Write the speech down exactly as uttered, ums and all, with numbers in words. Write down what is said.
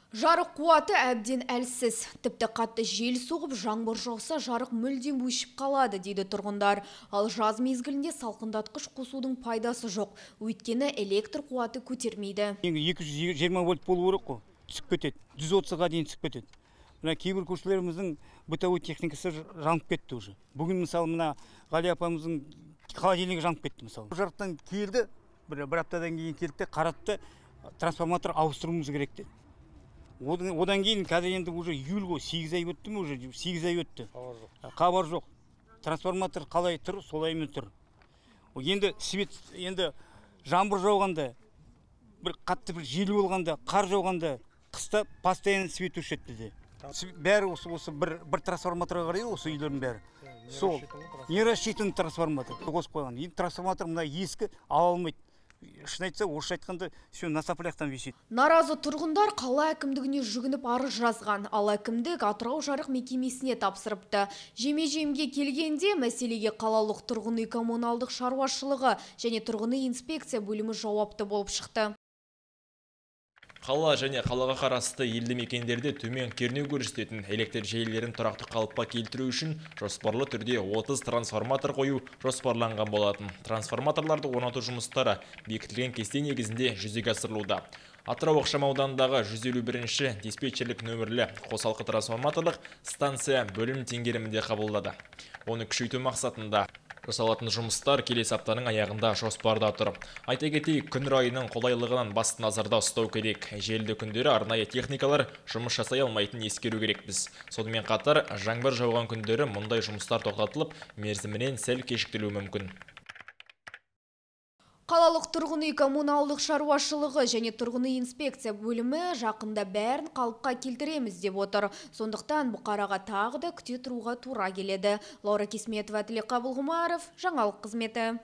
Жарық қуаты әбден әлсіз. Тіпті қатты жел соғып, жаңбыр жауса, жарық мүлдем өшіп қалады, дейді тұрғындар. Ал жаз мезгілінде салқындатқыш қосудың пайдасы жоқ. Өйткені электр қуаты көтермейді. екі жүз жиырма вольт болу керек қой, түсіп кетеді. жүз отызға дейін түсіп кетеді. Мына кейбір көшелеріміздің бытовой техникасы жанып кетті уже. Бүгін мысалы мына Ғали апамыздың холодильнигі жанып кетті мысалы. Жарықтан келді, бір, бір аптадан кейін келді, қаратты, трансформатор ауыстыруымыз керек деді. Одан кейін қазір енді уже июль ғой, сегіз ай өтті ме уже, сегіз ай өтті. Хабар жоқ. Трансформатор қалай тұр, солаймен тұр. Енді свет, енді жаңбыр жауғанда, бір қатты бір жел болғанда, қар жауғанда, қыста постоянно свет өшеді де. Бәрі осы осы бір бір трансформаторға қарайды, осы үйлердің бәрі. Сол не рассчитан трансформатор қосып қойған. Енді трансформатор мына ескі ала алмайды. Шын айтса, орысша айтқанда, все на соплях висит. Наразы тұрғындар қала әкімдігіне жүгініп арыз жазған. Ал әкімдік Атырау жарық мекемесіне тапсырыпты. Жеме-жемге келгенде мәселеге қалалық тұрғын үй коммуналдық шаруашылығы және тұрғын үй инспекция бөлімі жауапты болып шықты. Қала және қалаға қарасты елді мекендерде төмен кернеу көрсететін электр желілерін тұрақты қалыпқа келтіру үшін жоспарлы түрде отыз трансформатор қою жоспарланған болатын. Трансформаторларды орнату жұмыстары бекітілген кесте негізінде жүзеге асырылуда. Атырау ықшамауданындағы жүз елу бірінші диспетчерлік нөмірлі қосалқы трансформаторлық станция бөлім теңгерімінде қабылдады. Оны күшейту мақсатында жасалатын жұмыстар келесі аптаның аяғында жоспарда тұр. Айта кетейік, күн райының қолайлығынан басты назарда ұстау керек. Желді күндері арнайы техникалар жұмыс жасай алмайтын ескеру керекпіз. Сонымен қатар, жаңбыр жауған күндері мұндай жұмыстар тоқтатылып, мерзімінен сәл кешіктірілуі мүмкін. Қалалық тұрғын үй коммуналдық шаруашылығы және тұрғын үй инспекция бөлімі жақында бәрін қалыпқа келтіреміз деп отыр. Сондықтан бұқараға тағы да күте тұруға тура келеді. Лаура Кесметова, Тілек Қабылғұмаров, жаңалық қызметі.